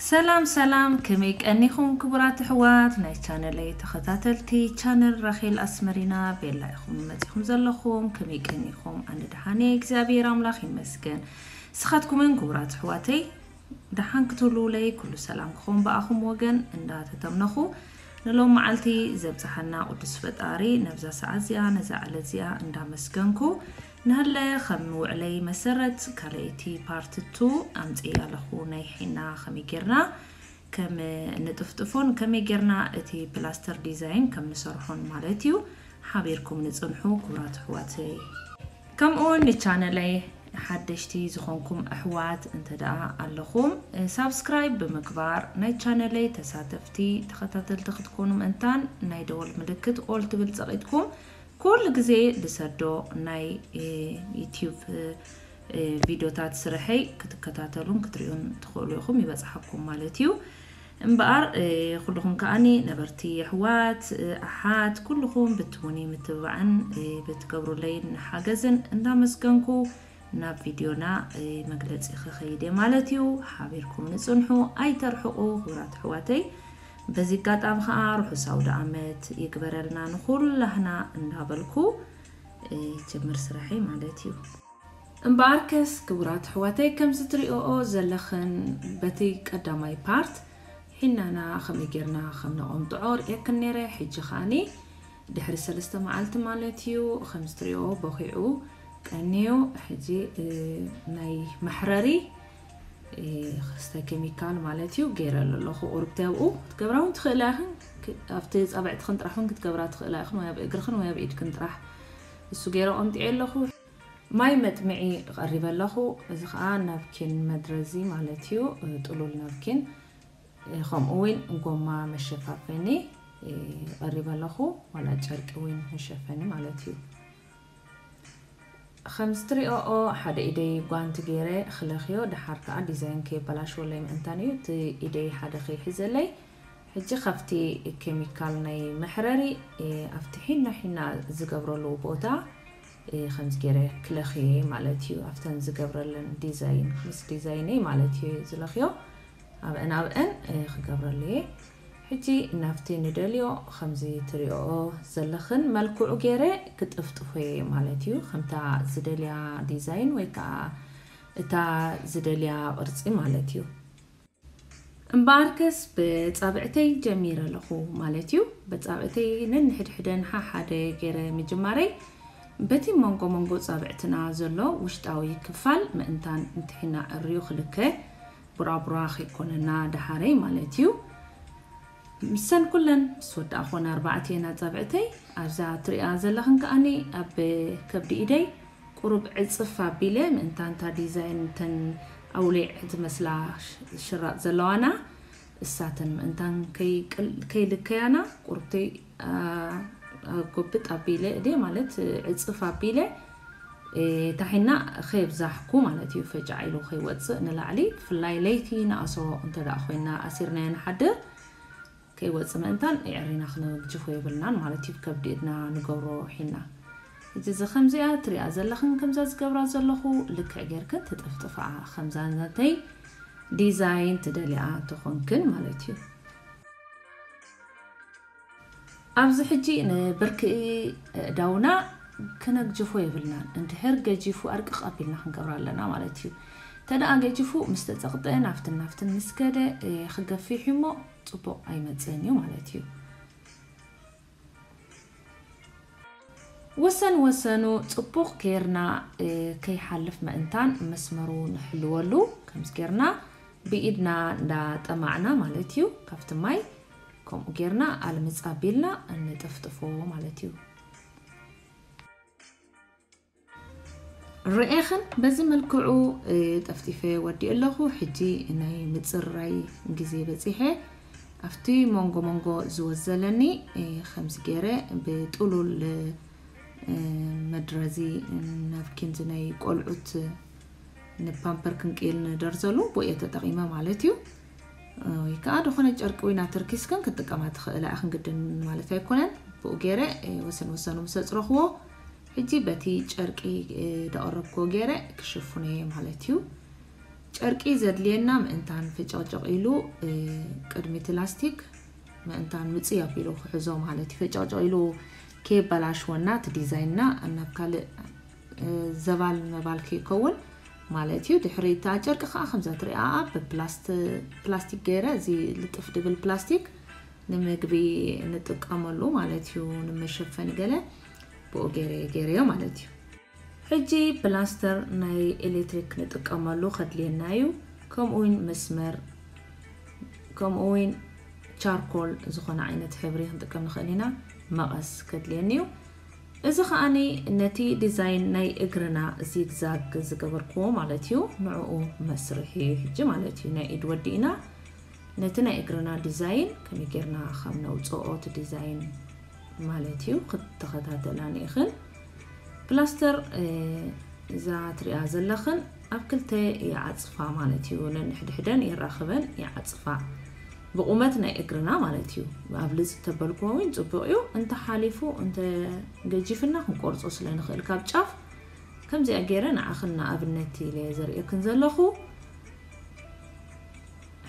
ሰላም ሰላም፣ ከመይ ቀኒኹም ክቡራት ኣሕዋት ናይ ቻነለይ ተኸታተልቲ? ቻነል ራኼል ኣስመሪና ቤላ ኢኹም መጺኹም ዘለኹም። ከመይ ቀኒኹም? ኣነ ደሓን እየ፣ እግዚኣብሔር ኣምላኽ ይመስገን። ንስኻትኩምን ክቡራት ኣሕዋተይ ደሓን ክትህልዉለይ ኩሉ ሰላም ክኸውን ብኣኹም ወገን እንዳተተምነኹ፣ ንሎም መዓልቲ ዘብጽሓና ቅዱስ ፈጣሪ ነብዛ ሰዓት እዚኣ ነዛ ዕለት እዚኣ እንዳመስገንኩ፣ ንሃለ ከም ውዕለይ መሰረት ካልኣይቲ ፓርት ቱ ኣምጽእ ኣለኹ። ናይ ሒና ከመይ ጌርና ከም ንጥፍጥፎን ከመይ ጌርና እቲ ፕላስተር ዲዛይን ከም ንሰርሖን ማለት እዩ። ሓቢርኩም ንጽንሑ ክቡራት ኣሕዋተይ። ከምኡ እውን ንቻነለይ ሓደሽቲ ዝኾንኩም ኣሕዋት እንተ ደኣ ኣለኹም፣ ሳብስክራይብ ብምግባር ናይ ቻነለይ ተሳተፍቲ ተኸታተልቲ ክትኮኑ ምእንታን ናይ ደወል ምልክት ኦል ትብል ጸቒጥኩም ኩሉ ግዜ ዝሰዶ ናይ፣ እ፣ ዩቲዩብ፣ እ፣ እ፣ ቪዲዮታት ስርሐይ ክትከታተሉን ክትሪኡን ትኽእሉ ኢኹም፣ ይበጽሓኩም ማለት እዩ። እምበኣር፣ እ፣ ኩልኹም ከኣኒ ነበርቲ ኣሕዋት፣ እ፣ ኣሓት ኩልኹም ብትቡኒ ምትብባዕን፣ እ፣ ብትገብሩለይን ሓገዝን እንዳመስገንኩ ናብ ቪድዮና፣ እ፣ መግለጺ ክኸይድ እየ ማለት እዩ። ሓቢርኩም ንጽንሑ፣ ኣይተርሕቑ ክቡራት ኣሕዋተይ። በዚ ኣጋጣሚ ኸኣ ርሑስ ኣውደ ዓመት ይግበረልና ንኹላህና እንዳበልኩ፣ እ፣ ጀምር ስራሐይ ማለት እዩ። እምበኣርከስ ክቡራት ኣሕዋተይ፣ ከምዚ ትሪኦኦ ዘለኽን በቲ ቀዳማይ ፓርት ሒናና ከመይ ጌርና ከም ነቐምጥዖ ርእየክን ነይረ። ሕጂ ኸኣኒ ድሕሪ ሰለስተ መዓልቲ ማለት እዩ፣ ከምዚ ትሪኦ ቦኺዑ ቀንዩ። ሕጂ፣ እ፣ ናይ መሕረሪ፣ እ፣ ክስተ ኬሚካል ማለት እዩ ገይረሉ ኣለኹ። ቁርብቲ ኣብኡ ክትገብራ እውን ትኽእላ ኢኽን፣ ክ-፣ ኣብቲ ጻብዕትኽን ጥራሕ እውን ክትገብራ ትኽእላ ኢኽን፣ ወይ ኣብ እግርኽን ወይ ኣብ ኢድክን ጥራሕ። እሱ ገይረ ቆምጥየ ኣለኹ። ማይ መጥምዒ ቀሪበ ኣለኹ። እዚ ኸኣ ናፕኪን መድረዚ ማለት እዩ፣ እ፣ ጥሉል ናፕኪን፣ እ፣ ከምኡ እውን ጎማ መሸፋፈኒ፣ እ፣ ቀሪበ ኣለኹ፣ ዋላ ጨርቂ እውን መሸፈኒ ማለት እዩ። ከምዚ ትሪኦኦ ሓደ ኢደይ ጓንቲ ገይረ ክለኽዮ፣ ደሓር ከኣ ዲዛይን ከየበላሽወለይ ምእንታን እዩ እቲ ኢደይ ሓደ ከይሕዘለይ። ሕጂ ካብቲ ኬሚካል ናይ መሕረሪ፣ እ፣ ኣብቲ ሒና ሒና ዝገብረሉ ቦታ፣ እ፣ ከምዚ ገይረ ክለኽየ ማለት እዩ። ኣብተን ዝገብረለን ዲዛይን፣ ምስ ዲዛይነይ ማለት እዩ ዝለኽዮ። ኣብአን ኣብአን፣ እ፣ ክገብረሉ እየ። ሕጂ ናብቲ ንደልዮ ከምዚ ትሪኦኦ ዘለኽን መልክዑ ገይረ ክጥፍጥፎ እየ ማለት እዩ። ከምታ ዝደልያ ዲዛይን ወይ ከዓ እታ ዝደልያ ቅርጺ ማለት እዩ። እምበኣርከስ ብጻብዕተይ ጀሚረ ኣለኹ ማለት እዩ። ብጻብዕተይ ነንሕድሕደን ሓሓደ ገይረ ምጅማረይ፣ በቲ መንጎ መንጎ ጻብዕትና ዘሎ ውሽጣዊ ክፋል ምእንታን እንተ ሒና ዕርዩ ክልከ፣ ቡራቡራ ከይኮነና ደሓረይ ማለት እዩ። ምሰን ኩለን ምስ ወዳእኹን ኣርባዕተን ኣጻብዕተይ ኣብዛ ትሪኣ ዘለኽን ከኣኒ ኣብ ከብዲ ኢደይ ቁሩብ ዕጽፍ ኣቢለ ምእንታን እታ ዲዛይን እተን ኣውሊዕ ዝመስላ ሽ-፣ ሽራጥ ዘለዋና እሳተን ምእንታን ከይቅል-፣ ከይልከያና ቁሩብተይ፣ ኣ፣ ጎብጥ ኣቢለ እደ ማለት ዕጽፍ ኣቢለ፣ እ፣ ታሒና ከየብዛሕኩ ማለት እዩ፣ ፈጫዕ ኢሉ ከይወጽእ ንላዕሊ፣ ብፍላይ ለይቲ ንኣሶ እንተ ደኣ ኮይና ኣሲርናዮ ንሓድር፣ ከይወጽእ ምእንታን የዕሪና ክነግጅፎ የብልናን ማለት እዩ፣ ከብዲ ኢድና ንገብሮ ሒና። ሕጂ እዚ ከምዚኣ ትሪኣ ዘለኽን ከምዛ ዝገብራ ዘለኹ ልክዕ ጌርክን ትጥፍጥፍኣ፣ ከምዛ ናተይ ዲዛይን ትደልያ ተኾንክን ማለት እዩ። ኣብዚ ሕጂ ንብርኪ ኣእዳውና ክነግጅፎ የብልናን። እንድሕር ገጂፉ ኣርቅቕ ኣቢልና ክንገብሮ ኣለና ማለት እዩ። ተደኣ ገጂፉ ምስ ተጸቕጠ ናፍትን ናፍትን ምስ ከደ፣ እ፣ ክገፊሕ እሞ ጽቡቕ ኣይመጽእን እዩ ማለት እዩ። ወሰን ወሰኑ ጽቡቕ ጌርና፣ እ፣ ከይሓልፍ ምእንታን መስመሩ ንሕልወሉ። ከምዚ ጌርና ብኢድና እንዳጠማዕና ማለት እዩ። ካብቲ ማይ ከምኡ ጌርና ኣልምጽ ኣቢልና እንጥፍጥፎ ማለት እዩ። ርኤኽን በዚ መልክዑ፣ እ፣ ጠፍጢፈ ወዲእ ኣለኹ። ሕጂ ናይ ምጽራይ ግዜ በጺሐ። ኣብቲ መንጎ መንጎ ዝወዘለኒ፣ እ፣ ከምዚ ገይረ ብጥሉል፣ እ፣ መድረዚ ናፕኪን፣ እዚ ናይ ቆልዑት ንፓምፐር ክንቅይል ንደርዘሉ ብኡ እየ ተጠቒመ ማለት እዩ። ወይ ከዓ ዝኾነ ጨርቂ ወይ ናተርኪስክን ክትጥቀማ ትኽእላ ኢኽን፣ ግድን ማለት ኣይኮነን። ብኡ ገይረ፣ እ፣ ወሰን ወሰኑ ምስ ኣጽረኽዎ፣ ሕጂ በቲ ጨርቂ፣ እ፣ ደቐረብክዎ ገይረ ክሽፍኖ እየ ማለት እዩ። ጨርቂ ዘድልየና ምእንታን ፈጨቕጨቕ ኢሉ ቅድሚ እቲ ላስቲክ ምእንታን ምጽይ ኣቢሉ ክሕዞ ማለት እዩ። ፈጨቕጨቕ ኢሉ ከየበላሽወና እቲ ዲዛይንና ናብ ካልእ ዘባል መባል ከይከውን ማለት እዩ። ድሕሪ እታ ጨርቂ ከዓ ከምዛ ትሪኣ ብፕላስቲክ ገይረ እዚ ልጥፍ ድብል ፕላስቲክ ንምግቢ ንጥቀመሉ ማለት እዩ። ንመሸፈኒ ገለ ብኡ ገይረ ገይረዮ ማለት እዩ። ሕጂ ፕላስተር ናይ ኤሌክትሪክ ንጥቀመሉ ከድልየና እዩ። ከምኡ እውን መስመር ከምኡ እውን ቻርኮል ዝኾነ ዓይነት ሕብሪ ክንጥቀም ንኽእል ኢና። መቐስ ከድልየኒ እዩ። እዚ ከዓኒ ነቲ ዲዛይን ናይ እግርና ዚግዛግ ዝገበርክዎ ማለት እዩ። ንዕኡ መስርሒ እዩ ሕጂ ማለት እዩ። ናይ ኢድ ወዲእና ነቲ ናይ እግርና ዲዛይን ከመይ ጌርና ከም ነውፅኦ እቲ ዲዛይን ማለት እዩ ክትከታተላ ንኢኽን። ፕላስተር እዛ ትሪኣ ዘለኽን ኣብ ክልተ ይዓፅፋ ማለት እዩ። ነንሕድሕደን የራኽበን ይዓፅፋ ብቁመት ናይ እግርና ማለት እዩ። ኣብ ልፅ ተበልክዎ እውን ፅቡቅ እዩ። እንተ ሓሊፉ እንተ ገጂፍና ክንቆርፆ ስለ ንኽእል ካብ ጫፍ ከምዚኣ ገይረ ንዓኽን ንኣብነት ኢለ ዘርእየክን ዘለኹ።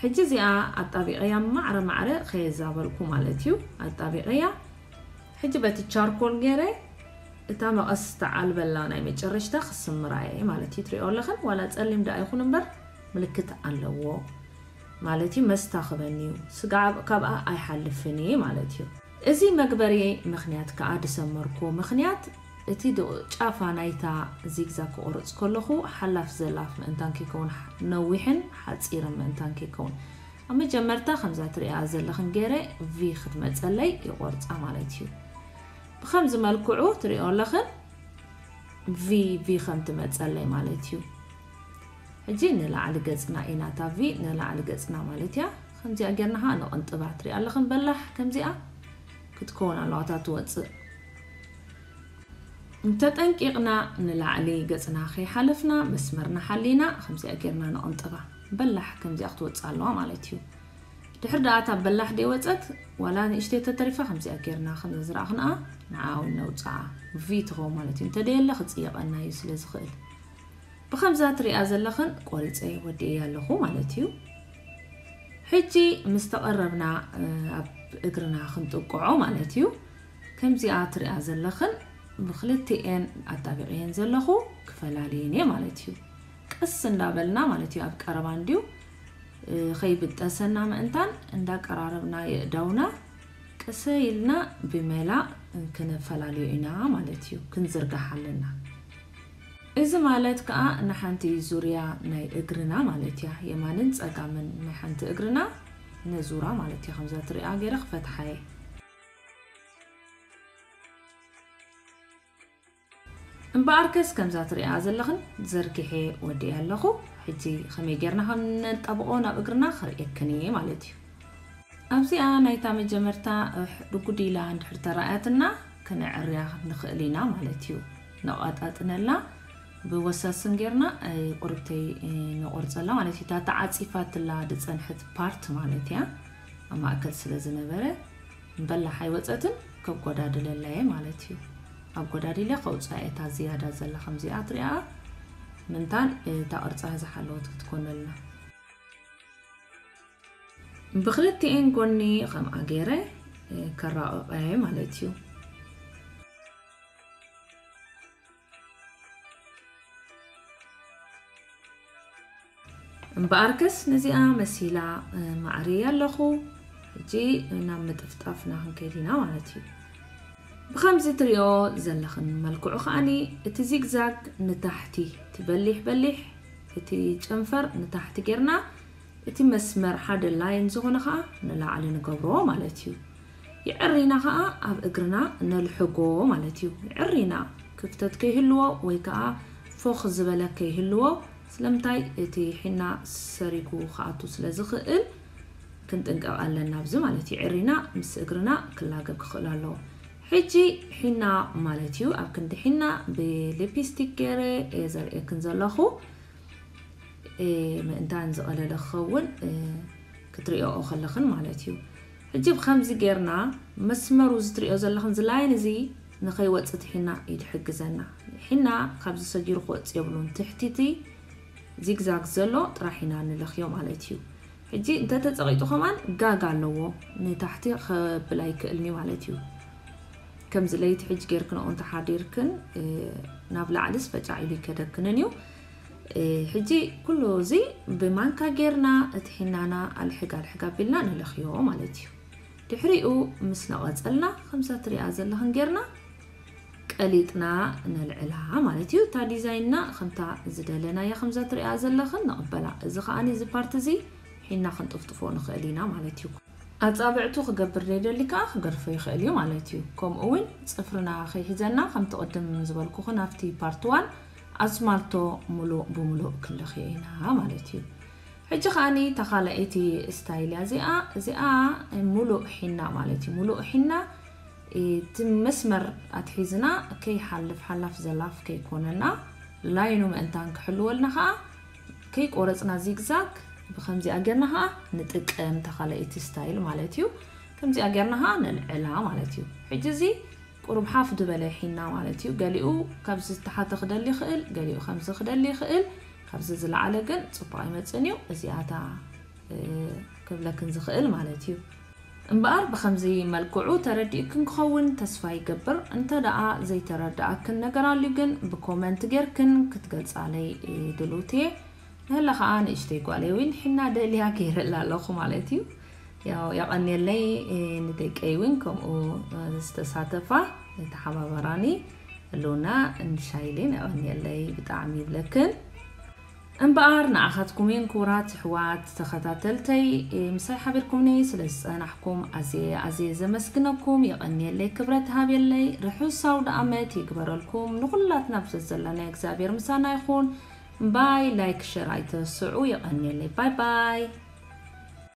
ሕጂ እዚኣ ኣጣቢቐያ ማዕረ ማዕረ ከየዛበልኩ ማለት እዩ። ኣጣቢቐያ ሕጂ በቲ ቻርኮል ገይረ እታ መቐስ ዝተዓልበላ ናይ መጨረሽታ ክስምራ እየ ማለት እዩ። ትሪኦ ኣለኽን ዋላ ፀሊም ደኣ ይኹን እምበር ምልክት ኣለዎ ማለት እዩ። መስታኽበኒ እዩ። ስጋዕ ካብኣ ኣይሓልፍን እየ ማለት እዩ። እዚ መግበሪ ምኽንያት ከኣ ዝሰመርኩ ምኽንያት እቲ ዶ- ጫፋ ናይታ ዚግዛግ ክቆርጽ ከለኹ ሓላፍ ዘላፍ ምእንታን ከይከውን፣ ነዊሕን ሓጺርን ምእንታን ከይከውን። ኣብ መጀመርታ ከምዛ ትሪኣ ዘለኽን ገይረ ቪ ክትመጸለይ ይቆርጻ ማለት እዩ። ብኸምዚ መልክዑ ትሪኦ ኣለኽን ቪ ቪ ከም ትመጸለይ ማለት እዩ። ሕጂ ንላዕሊ ገጽና ኢና፣ እታ ቪ ንላዕሊ ገጽና ማለት እያ። ከምዚኣ ጌርና ኸዓ ንቕንጥባ። ትሪኣ ኣለኽን በላሕ ከምዚኣ ክትከውን ኣለዋ እታ ትወጽእ። እንተጠንቂቕና ንላዕሊ ገጽና ከይሓለፍና መስመርና ሓሊና ከምዚኣ ጌርና ንቕንጥባ። በላሕ ከምዚኣ ክትወጽእ ኣለዋ ማለት እዩ። ድሕር ደኣ እታ በላሕ ደይወጸት ዋላ ንእሽተይ ተተሪፋ ከምዚኣ ጌርና ከም ዝረኣኽንኣ ንዓ እውን ነውጽኣ። ቪ ትኸውን ማለት እዩ። እንተደየለ ክጽየቐና እዩ ስለ ዝኽእል። ብኸምዛ ትሪኣ ዘለኽን ቆሪጸ ወዲኤያ ኣለኹ ማለት እዩ። ሕጂ ምስ ተቐረብና ኣብ እግርና ክንጥቅዖ ማለት እዩ። ከምዚኣ ትሪኣ ዘለኽን ብኽልቲኤን ኣጣቢቐየን ዘለኹ ክፈላልየን እየ ማለት እዩ። ቀስ እንዳበልና ማለት እዩ ኣብ ቀረባ እንድዩ ከይብጠሰና ምእንታን እንዳቀራረብና የእዳውና ቀሰ ኢልና ብመላ ክነፈላልዮ ኢና ማለት እዩ። ክንዝርጋሕ ኣለና። እዚ ማለት ከኣ ንሓንቲ ዙርያ ናይ እግርና ማለት እያ። የማንን ጸጋምን ናይ ሓንቲ እግርና ነዙራ ማለት እያ። ከምዛ ትሪኣ ገይረ ክፈትሓ እየ። እምበኣርከስ ከምዛ ትሪኣ ዘለኽን ዘርጊሐ ወዲኤ ኣለኹ። ሕጂ ከመይ ጌርና ከም ነጣብቆ ናብ እግርና ከርእየክን እየ ማለት እዩ። ኣብዚኣ ናይታ መጀመርታ ዱጉድ ኢላ እንድሕር ተራእያትና ክነዕርያ ንኽእል ኢና ማለት እዩ። ነቋጣጥነላ ብወሳስን ጌርና ቁርብተይ ንቆርጸላ ማለት እዩ። እታ ተዓጺፋትላ ዝጸንሐት ፓርት ማለት እያ ኣብ ማእከል ስለ ዝነበረ እምበላሕ ኣይወጸትን ከጎዳድለላ እየ ማለት እዩ። ኣብ ጎዳዲለ ከውፅኣ እየ እታ ዝያዳ ዘላ ከምዚኣ ትሪኣ ምንታን እታ ቅርፃ ዝሓለወት ክትኮነልና። ብክልቲኤን ጎኒ ከምኣ ገይረ ከራቕቐ እየ ማለት እዩ። እምበኣርከስ ነዚኣ መሲላ ማዕርየ ኣለኹ። ሕጂ ናብ ምጥፍጣፍና ክንከይድ ኢና ማለት እዩ። ብኸምዚ ትሪኦ ዘለኽን መልክዑ ከዓኒ እቲ ዚግዛግ ንታሕቲ፣ እቲ በሊሕ በሊሕ፣ እቲ ጨንፈር ንታሕቲ ጌርና እቲ መስመር ሓደ ላይን ዝኾነ ኸዓ ንላዕሊ ንገብሮ ማለት እዩ። ይዕሪና ኸዓ ኣብ እግርና ነልሕጎ ማለት እዩ። ይዕሪና ክፍተት ከይህልዎ ወይ ከኣ ፎኽ ዝበለ ከይህልዎ። ስለምንታይ እቲ ሒና ሰሪጉ ክኣቱ ስለ ዝኽእል ክንጥንቀቕ ኣለና ኣብዚ ማለት እዩ። ይዕሪና ምስ እግርና ክላገብ ክኽእል ኣለዎ። ሕጂ ሒና ማለት እዩ። ኣብ ክንዲ ሒና ብሊፕስቲክ ገይረ እየ ዘርእየክን ዘለኹ። ምእንታን ዝቐለለ ክኸውን ክትሪኦ ከለኽን ማለት እዩ። ሕጂ ብኸምዚ ጌርና መስመሩ ዝትሪኦ ዘለኽን ዝላይን እዚ ንኸይወፅእ ሒና እዩ ዝሕግዘና። ሒና ካብዚ ሰጊሩ ክወፅእ የብሉን። ትሕቲቲ ዚግዛግ ዘሎ ጥራሕ ኢና ንለኽዮ ማለት እዩ። ሕጂ እንተተጸቒጡ ከማን ጋግ ኣለዎ፣ ንታሕቲ ከብል ኣይክእልን እዩ ማለት እዩ። ከምዚ ለይቲ ሕጂ ጌርክንኦ እንተሓዲርክን ናብ ላዕሊ ስፈጫዕ ኢሉ ይከደክንን እዩ። ሕጂ ኩሉ እዚ ብማንካ ጌርና እቲ ሒናና ኣልሕግ ኣልሕግ ኣቢልና ንለኽዮ ማለት እዩ። ድሕሪኡ ምስ ነቐጸልና ከምዛ ትሪኣ ዘለኽን ጌርና ቀሊጥና ነልዕላ ማለት እዩ። እታ ዲዛይንና ከምታ ዝደለናያ ከምዛ ትሪኣ ዘለኽን ንቕበላ። እዚ ከኣኒ እዚ ፓርት እዚ ሒና ክንጥፍጥፎ ንኽእል ኢና ማለት እዩ። ኣጻብዕቱ ክገብር ዘይደሊ ከኣ ክገድፎ ይኽእል እዩ ማለት እዩ። ከምኡ እውን ጽፍርና ከይሕዘና ከምቲ ቅድም ዝበልኩኽን ኣብቲ ፓርት ዋን ኣስማልቶ ሙሉእ ብሙሉእ ክንለኽዮ ኢና ማለት እዩ። ሕጂ ከኣኒ ተኻላኢቲ ስታይል እያ እዚኣ። እዚኣ ሙሉእ ሒና ማለት እዩ። ሙሉእ ሒና እቲ መስመር ኣትሒዝና ከይሓልፍ ሓላፍ ዘላፍ ከይኮነና ላይኑ ምእንታን ክሕልወልና ከኣ ከይቆረጽና ዚግዛግ ብከምዚኣ ጌርና ከኣ ንጥቀም ተኻላኢቲ ስታይል ማለት እዩ። ከምዚኣ ጌርና ከኣ ነልዕላ ማለት እዩ። ሕጂ እዚ ቁሩብ ሓፍ ዝበለ ሒና ማለት እዩ። ገሊኡ ካብዚ ዝተሓተ ክደሊ ይኽእል፣ ገሊኡ ከምዚ ክደሊ ይኽእል። ካብዚ ዝለዓለ ግን ጽቡቕ ኣይመጽእን እዩ። እዚኣታ ክብለክን ዝኽእል ማለት እዩ። እምበኣር ብኸምዚ መልክዑ ተረዲእክን ክኸውን ተስፋ ይገብር። እንተ ደኣ ዘይተረድኣክን ነገር ኣልዩ ግን ብኮመንት ጌርክን ክትገልጻለይ ድሉት እየ። ንህለ ኸኣ ንእሽተይ ጓለይ እውን ሒና ደልያ ገይረላ ኣለኹ ማለት እዩ። ያው የቐንየለይ ንደቀይ እውን ከምኡ ዝተሳተፋ ዝተሓባበራኒ ህልውና እንሻይልን የቐንየለይ ብጣዕሚ ይብለክን። እምበኣር ንኣኻትኩም እየን ክቡራት ኣሕዋት ተኸታተልተይ ምሳይ ሓቢርኩምኒ ስለ ዝጸናሕኩም ኣዝየ ኣዝየ ዘመስግነኩም። የቐንየለይ፣ ክብረት ሃብየለይ። ርሑስ ኣውደ ኣመት ይግበረልኩም። ንኹላትና ብዘዘለና እግዚኣብሔር ምሳና ይኹን። ባይ። ላይክ ሸር ኣይትረስዑ። የቐንየለይ። ባይ ባይ።